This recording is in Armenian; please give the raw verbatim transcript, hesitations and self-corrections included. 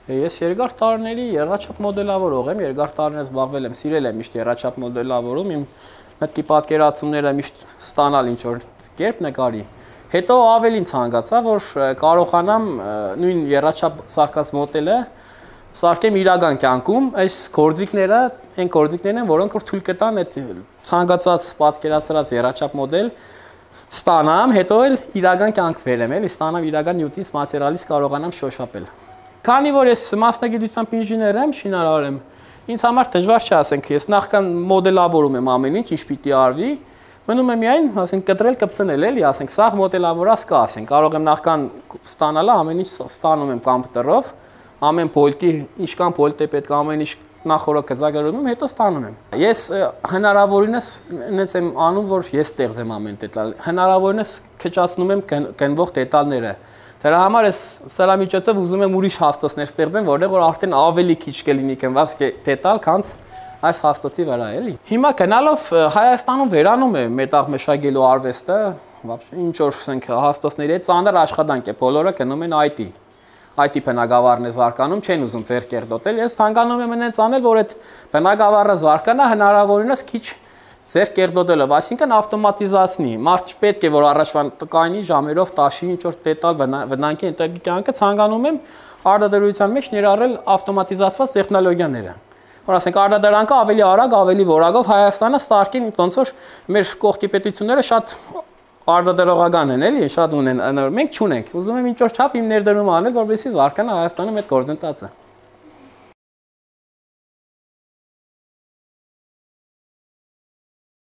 Ես երկար տարիների եռաչափ մոդելավորող եմ, երկար տարիներ զբաղվել եմ, սիրել եմ միշտ եռաչափ մոդելավորում, իմ մտքի պատկերացումները միշտ ստանալ ինչ-որ կերպ նկարի։ Հետո ավելին ցանկացա, որ կարողանամ նույն եռաչափ սարքած մոդելը սարքեմ իրական կյանքում, այս գործիքները, այն գործիքներն են, որոնք որ թույլ կտան այդ ցանկացած պատկերացրած եռաչափ մոդել ստանամ, հետո էլ իրական կյանք բերեմ, էլի ստանամ իրական նյութից մատերիալից կարողանամ շոշափել։ Քանի որ ես մասնագիտությամբ ինժեներ եմ, շինարար եմ, ինձ համար դժվար չէ, ասենք, ես նախքան մոդելավորում եմ ամեն ինչ, ինչ պիտի արվի, մնում է միայն, ասենք, կտրել, կպցնել, էլի, ասենք, սաղ մոդելավորած կա, ասենք, կարող եմ նախքան ստանալը ամեն ինչ ստանում եմ կոմպյուտերով, ամեն փոլտի, ինչքան փոլտ է պետք, ամեն ինչ նախորդ գծագրում, հետո ստանում եմ։ Ես հնարավորինս ինձ եմ անում, որ ես ստեղծեմ ամեն դետալ, հնարավորինս քչացնում եմ գնվող դետալները։ Դրա համար ես սրա միջոցով ուզում եմ ուրիշ հաստոցներ ստեղծեմ, որտեղ որ արդեն ավելի քիչ կլինի գնված դետալ, քան այս հաստոցի վրա, էլի։ Հիմա գնալով Հայաստանում վերանում է մետաղ մշակելու արվեստը, ինչ որ ասենք հաստոցների հետ ծանր աշխատանք է, բոլորը գնում են այ տի։ այ տի բնագավառն է զարգանում, չեն ուզում ձեռք կերտոտել, ես ցանկանում եմ այնց անել, որ այդ բնագավառը զարգանա հնարավորինս քիչ ձեռք կերտոտելով, այսինքն ավտոմատիզացնի, մարդ չպետք է որ առաջվան կայնի ժամերով տաշի ինչ որ դետալ վնանքի ընտակի կյանքը, ցանկանում եմ արտադրության մեջ ներառել ավտոմատիզացված տեխնոլոգիաները, որ ասենք արտադրանքը ավելի արագ, ավելի որակով Հայաստանը ստարկին, ոնց որ մեր կողքի պետությունները շատ արտադրողական են, էլի, շատ ունեն, մենք չունենք, ուզում եմ ինչ որ չափ իմ ներդրումը անել, որպեսզի զարգանա Հայաստանում այդ գործընթացը։